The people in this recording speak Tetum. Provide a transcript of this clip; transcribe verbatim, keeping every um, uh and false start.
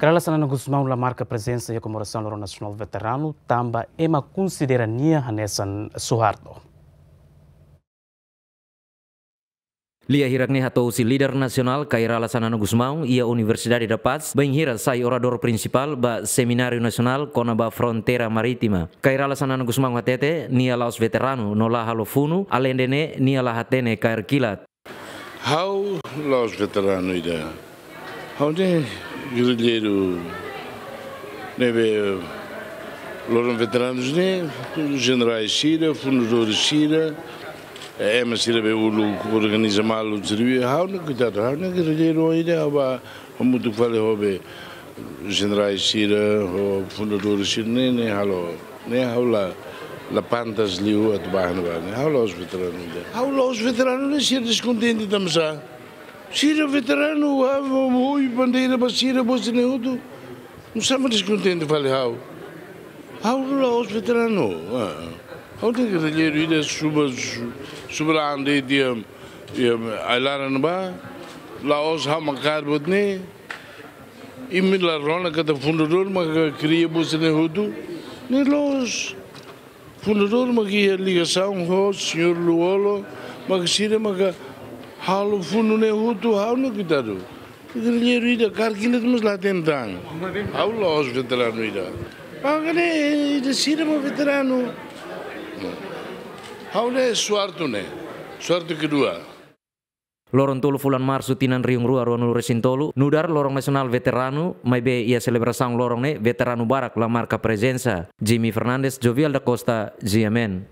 Kay Rala Xanana Gusmão la marka prezensa iha komemorasaun Loron Nasionál Veteranu, tanba ema konsidera nia hanesan Suharto. Lia hirak ne'e hato'o husi líder nasionál Kay Rala Xanana Gusmão iha Universidade da Paz, bainhira sai oradór prinsipál ba Semináriu Nasionál kona-ba Fronteira Marítima. Kay Rala Xanana Gusmão hatete, nia la'ós veteranu no la halo funu, aleinde ne'e nia la hatene kaer kilat. Ha'u la'ós veteranu ida. Ha'u ne'e gerrilleiru ne'ebé loron veteranus ne'e, jenerais sira, fundadores sira, ema sira be uluk organiza malu sira be, ha'u ne'e koitadu, ha'u ne'e gerrilleiru ida, ha'u ba hamutuk fali ho be jenerais sira, ho fundadores sira ne'e, ne'e halo, ne'e ha'u la, la pantas liu atu ba ne'ebá ne'e, ha'u la'ós veteranu ida. Ha'u la'ós veteranu ne'e sira deskontente tanbasá. Sira veteranu, ha'u, ha'u, ha'u, bandeira ba sira, bosi ne'e hotu. Nusá mak deskontente fali ha'u. Ha'u la'ós veteranu. Ah. Ha'u ne'e gerrilleiru ida suba, su-, suba la ande dia, dia, ai-laran ba. La'ós ha'u mak kaer buat ne'e. Imi la rona katak fundadór mak kria bosi ne'e hotu. Ne'e loos. Fundadór mak iha ligasaun ho señór Lú-Olo, mak sira mak halo funu ne'e hotu, ha'u ne'e koitadu. Gerrilleiru ida kaer kilat mós la hatene tan. Ha'u la'ós veteranu ida. Mak ne'e ida sira mak veteranu. Ha'u ne'e Suharto ne'e. Suharto kedua. Loron tolu fulan Marsu tinan rihun rua ruanulu-resin-tolu, nu'udar Loron Nasionál Veteranu, maibé iha selebrasaun loron ne'e veteranu barak la marka prezensa. Jimmy Fernandes, Jovial da Costa, G M N.